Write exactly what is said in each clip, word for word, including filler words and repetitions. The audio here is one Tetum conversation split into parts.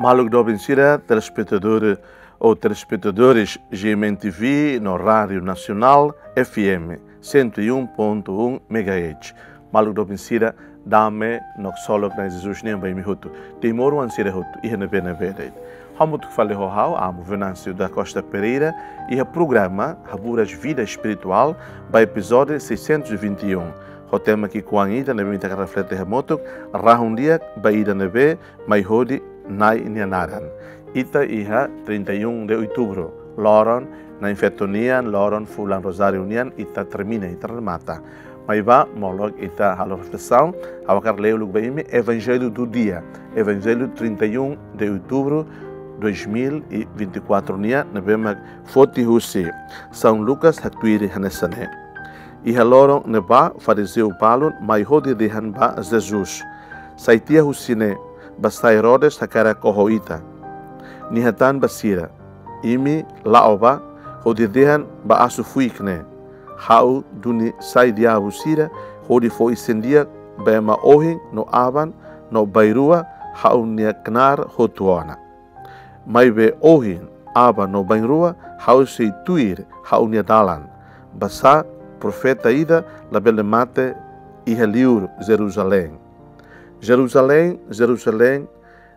Maluk doben sira, telespetadór ou telespetadores G M N T V no Rádio Nacional F M cento e um ponto um megahertz. Maluk doben sira, dame no ksolok Na'i Jesus nian ba imi hotu. Timoroan sira hotu, iha ne'ebé-ne'ebé de'it. Hamutuk fali ho ha'u, Amo Venâncio da Costa Pereira, iha programa Haburas Vida Espiritual, ba epizódiu seiscentos e vinte e um. Ho tema ki'ikoan ida ne'ebé ita hakarak reflete hamutuk, Rahun Di'ak ba Ida Ne'ebé Mai Hodi Na'i Nia Naran. Ita iha trinta e um de outubro, loron Na'in-Feto nian, loron fulan Rozáriu nian, ita termina, ita remata. Maibé molok ita halo reflesaun, ha'u hakarak lee uluk ba imi Evangelho do dia, Evangelho trinta e um de outubro dois mil e vinte e quatro nian, ne'ebé mak foti husi São Lucas, haktuir hanesan ne'e. Iha loron ne'ebá, farizeu balun mai hodi dehan ba Jesus: Sai tiha husi ne'e, basá Herodes hakarak oho ita. Nia hatán ba sira: Imi la'o bá, hodi dehan ba asu fuik ne'e: Ha'u duni sai diabu sira, hodi fó isin-di'ak ba ema ohin no aban, no bainrua ha'u-nia knaar hotu ona. Maibé ohin, aban no bainrua ha'u sei tuir ha'u-nia dalan. Basá profeta ida labele mate iha liur Jerusalém. Jerusalém, Jerusalém,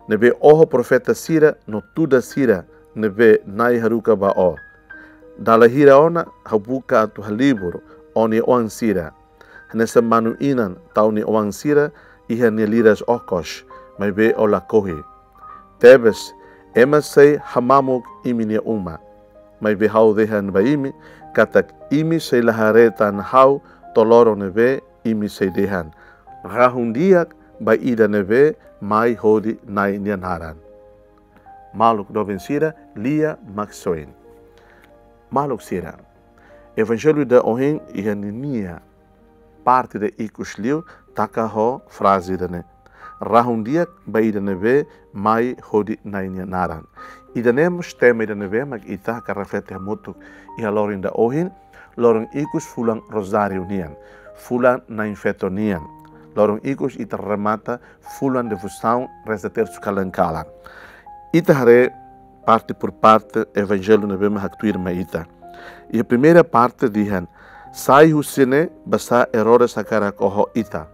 ne'ebé oho profeta sira no tuda sira ne'ebé Na'i haruka ba ó. Dala hira ona ha'u buka atu halibur ó-nia oan sira, hanesan manu-inan tau nia oan sira iha nia liras okos, maibé ó lakohi. Tebes, ema sei hamamuk imi-nia uma. Maibé ha'u dehan ba imi, katak imi sei la haree tan ha'u to'o loron ne'ebé imi sei dehan: Rahun Di'ak ba Ida Ne'ebé Mai Hodi Na'i Nia Naran. Maluk doben sira, lia maksoin. Maluk sira, Evangelho ida ohin iha ninia parte ida ikus liu taka ho fraze ida-ne'e: Rahun Di'ak ba Ida Ne'ebé Mai Hodi Na'i Nia Naran. Ida-ne'e mós tema ida ne'ebé mak ita hakarak reflete hamutuk iha loron ida ohin, loron ikus fulan Rozáriu nian, fulan Na'in-Feto nian. Loron ikus ita remata fulan devosaun reza tersu kalan-kalan. Ita haree parte por parte Evangelho ne'ebé mak haktuir mai ita. Iha primeira parte dehan: Sai husi ne'e, basá Herodes hakarak oho ita.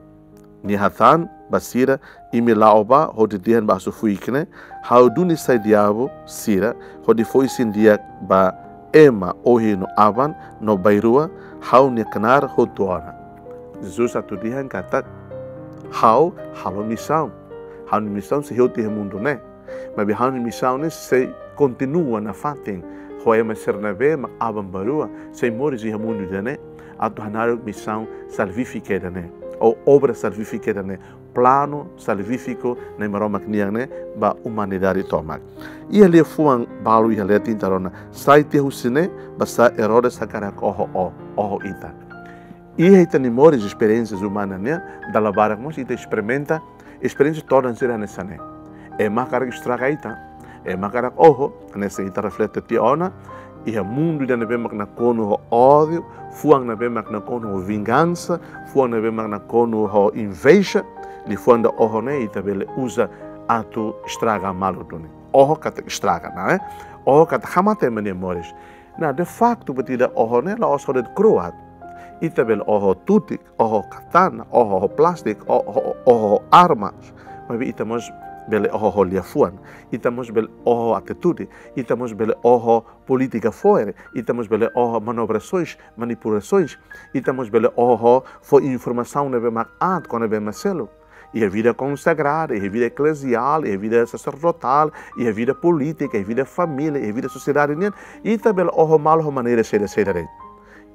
Nia hatán ba sira: Imi la'o bá, hodi dehan ba asu fuik ne'e: Ha'u duni sai diabu sira, hodi fó isin-di'ak ba ema ohin no aban, no bainrua ha'u-nia knaar hotu ona. Jesus atu dehan katak: Ha'u halo misaun. Ha'u-nia misaun sei hotu iha mundu ne'e. Maibé ha'u-nia misaun ne'e sei kontinua nafatin ho ema sira ne'ebé mak aban-bainrua sei moris iha mundu ida-ne'e, atu hanaruk misaun salvífika ida-ne'e, ou obra salvífika ida-ne'e, planu salvífiku Na'i Maromak nian ne'e ba umanidade tomak. Iha liafuan balu iha leten ita rona: Sai tiha husi ne'e, basá Herodes hakarak oho ó, oho ita. Iha ita-nia moris, esperiénsia umana nian, dala barak mós ita esperimenta esperiénsia todan sira hanesan ne'e. Ema hakarak estraga ita, ema hakarak oho, hanesan ita reflete tiha ona, iha mundu ida ne'ebé mak nakonu ho ódiu, fuan ne'ebé mak nakonu ho vingansa, fuan ne'ebé mak nakonu ho inveja, liafuan ida oho ne'e ita bele uza atu estraga malu duni. Oho katak estraga, ne'e? Oho katak hamate ema nia moris. Nah, de facto, buat ida oho ne'e la'ós ho de'it kro'at. Ita bele oho tutik, oho katana, oho ho plástiku, oho, oho, oho armas. Maibé ita mós bele oho ho liafuan. Ita mós bele oho atitude. Ita mós bele oho polítika fo'er. Ita mós bele oho manobrasoins, manipulasoins. Ita mós bele oho fó informasaun ne'ebé mak aat kona-ba ema seluk. Iha vida konsagrada, iha vida ekleziál, iha vida saserdotál, iha vida polítika, iha vida família, iha vida sosiedade nian, ita bele oho malu ho maneira saida-saida de'it.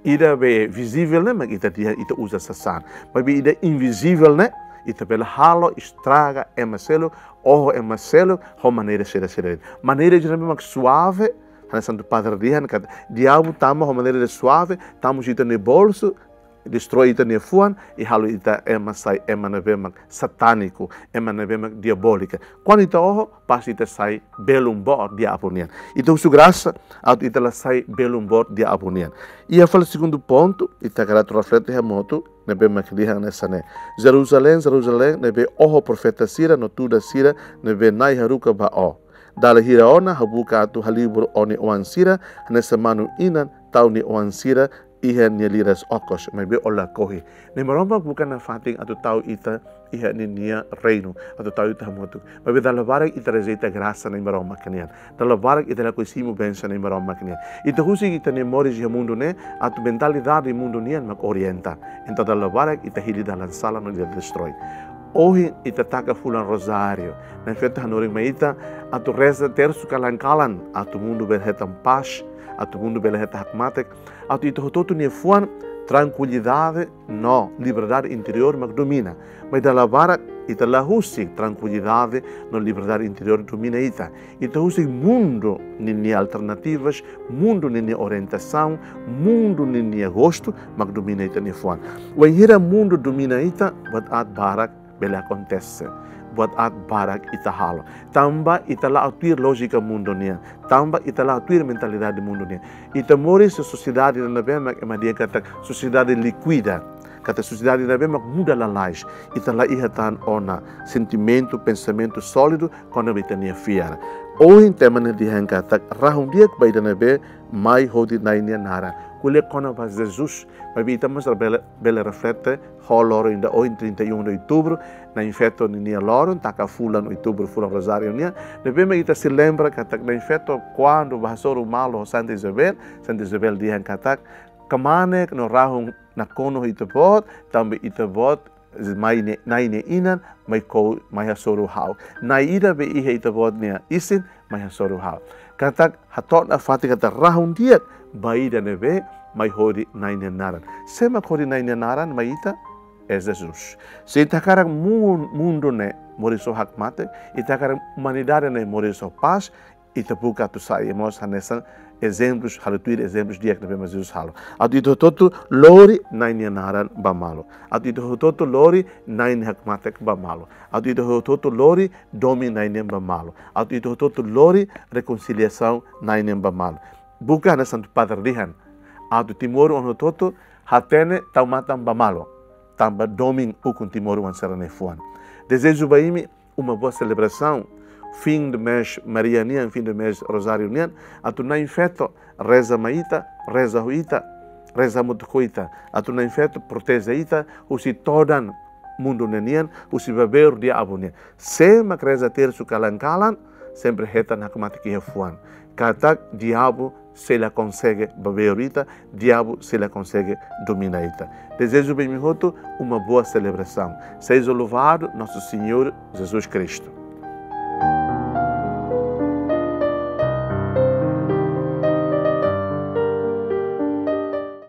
Ida be vizivel ne'e mak ita di'ak ita uza sasán. Maibé ida invizivel ne'e, ita bele halo estraga ema seluk, oho ema seluk ho maneira saida-saida de'it. Maneira ida ne'ebé mak suave, hanesan Santu Padre dehan katak diabu tama ho maneira ida suave, tama husi ita-nia bolsu, destroi ita-nia fuan, i halo ita ema sai ema ne'ebé mak satániku, ema ne'ebé mak diabólika. Kuandu ita oho, pasti ita sai belun boot diabu nian. Ita husu grasa atu ita la sai belun boot diabu nian. Iha fali segundu pontu, ita hakarak atu reflete hamutuk, ne'ebé mak dehan hanesan ne'e: Jerusalém, Jerusalém, ne'ebé oho profeta sira no tuda sira ne'ebé Na'i haruka ba ó. Dala hira ona ha'u buka atu halibur ó-nia oan sira, hanesan manu-inan tau nia oan sira iha nia liras okos, maibé ó lakohi. Na'i Maromak buka nafatin atu tau ita iha ninia reinu, atu tau ita hamutuk. Maibé dala barak ita rejeita grasa Na'i Maromak nian. Dala barak ita lakohi simu bensaun Na'i Maromak nian. Ita husik ita-nia moris iha mundu ne'e, atu mentalidade mundu nian mak orienta. Entaun dala barak ita hili dalan sala no ita destrói. Ohin ita taka fulan rozáriu. Na'i Feto hanorin mai ita atu reza tersu kalan-kalan, atu mundu bele hetan pás, atu mundu bele hetan hakmatek, atu ita hotu-hotu nia fuan trankuilidade no liberdade interiór mak domina. Maibé dala barak ita la husik trankuilidade no liberdade interiór domina ita. Ita husik mundu ninia alternativas, mundu ninia orientasaun, mundu ninia gostu mak domina ita-nia fuan. Wainhira mundu domina ita, buat aat barak bele akontese. Buat aat barak ita halo. Tanba ita la'o tuir lójika mundu nian. Tanba ita la'o tuir mentalidade mundu nian. Ita moris iha sosiedade ida ne'ebé mak ema dehan katak sosiedade líkida. Katak sosiedade ida ne'ebé mak muda lalais. Ita la iha tan ona sentimentu, pensamentu sólidu kona-ba ita-nia fiar. Ohin tema ne'e dehan katak rahun di'ak ba ida ne'ebé mai hodi Na'i nia naran. Ko'alia kona-ba Jesus. Maibé ita mós bele, bele reflete ho loron ida ohin, trinta e um de outubro, Na'i Feto ninia loron, taka fulan outubro, fulan rozáriu nian. Ne'ebé mak ita sei lembra katak Na'i Feto kuandu bá hasoru malu ho Santa Isabel, Santa Isabel dehan katak kmanek no rahun nakonu ho ita-boot, tanba ita-boot mai ne'e, Na'i nia inan, mai ko, mai hasoru ha'u. Na'i ida be iha ita-boot nia isin, mai hasoru ha'u. Katak hato'o nafatin katak rahun di'ak ba ida ne'ebé mai hodi Na'i nia naran. Sé mak hodi Na'i nia naran mai ita? É Jesus. Se ita hakarak mun-, mundu ne'e moris ho hakmatek, ita hakarak umanidade ne'e moris ho pás, ita buka atu sai mós hanesan ezemplus, halo tuir ezemplus di'ak ne'ebé mak Jesus halo. Atu ita hotu-hotu lori Na'i nia naran ba malu. Atu ita hotu-hotu lori Na'i nia hakmatek ba malu. Atu ita hotu-hotu lori domin Na'i nian ba malu. Atu ita hotu-hotu lori rekonsiliasaun Na'i nian ba malu. Buka hanesan Santu Padre dehan. Atu timoroan hotu-hotu hatene tau matan ba malu. Tanba domin ukun timoroan sira-nia fuan. Dezeja ba imi uma boa celebração, fim de mês Maria nian, fim de mês Rozáriu nian, atu Na'i Feto reza mai ita, reza ho ita, reza hamutuk ho ita, atu Na'i Feto proteje ita husi todan mundu ne'e nian, husi baberu diabu nian. Sé mak reza tersu kalan-kalan, sempre hetan hakmatek iha fuan. Katak diabu sei la konsege baberu ita, diabu sei la konsege domina ita. Dezeja ba imi hotu uma boa celebração. Seja louvado nosso Senhor Jesus Cristo.